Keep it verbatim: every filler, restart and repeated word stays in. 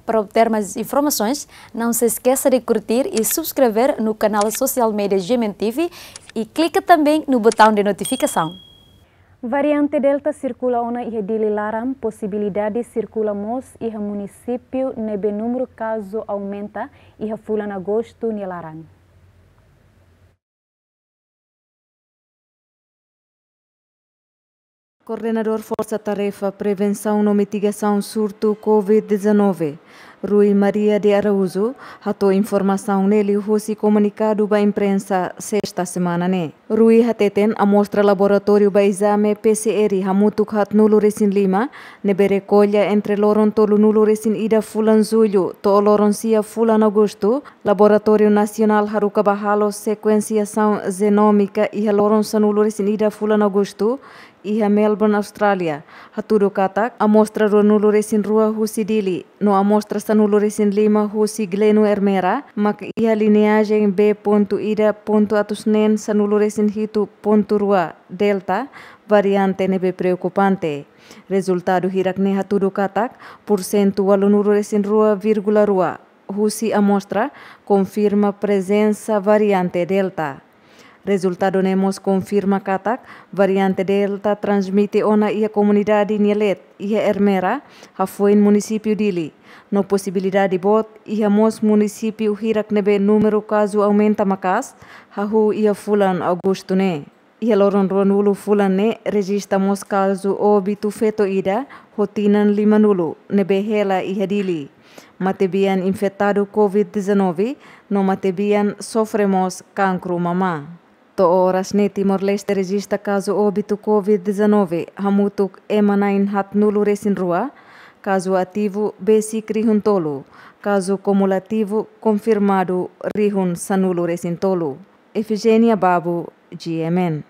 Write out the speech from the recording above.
Para obter mais informações, não se esqueça de curtir e subscrever no canal social media G M N T V e clica também no botão de notificação. Variante Delta sirkula ona iha Dili laran, posibilidade sirkula mós iha munisípiu ne'ebé númeru kazu aumenta iha fulan Agostu nia laran. Koordenadór Forsa Tarefa Prevensaun no Mitigasaun Surtu Covid dezanove, Rui Maria de Araújo, hato'o informasaun ne'e liuhusi komunikadu ba imprensa sesta semana ne'e. Rui hateten amostra laboratóriu ba ezame P C R hamutuk haatnulu-resin-lima, ne'ebé rekolla entre loron tolunulu-resin-ida fulan Jullu to'o loron sia fulan Agostu, Laboratóriu Nasionál haruka ba halo sekuensiasaun jenómika iha loron sanulu-resin-ida fulan Agostu, iha Melbourne, Austrália, hatudu katak amostra ruanulu-resin-rua husi Dili, no amostra sanulu-resin-lima husi Gleno Ermera, mak iha lineajen B pontu ida pontu atus neen sanulu-resin-hitu pontu rua Delta, variante ne'ebé preokupante. Rezultadu hirak-ne'e hatudu katak, pursentu ualunulu-resin-rua vírgula rua husi amostra konfirma prezensa variante Delta. Rezultadu ne'e mós konfirma katak variante Delta transmite ona iha komunidade nia leet, iha Ermera, hafoin munisípiu Dili. No posibilidade boot iha mós munisípiu hirak ne'ebé númeru kazu aumenta maka'as, hahú iha fulan Agostu ne'e. Iha loron ruanulu fulan ne'e rejista mós kazu óbitu feto ida ho tinan limanulu ne'ebé hela iha Dili. Matebian infetadu Covid dezanove, no matebian sofre mós kankru mamá. To'o oras ne'e Timor-Leste rejista kazu óbitu Covid dezanove hamutuk ema na'in haatnulu-resin-rua, kazu ativu besik rihun tolu, kazu kumulativu konfirmadu rihun sanulu-resin-tolu. Efigénia Babo, G M N.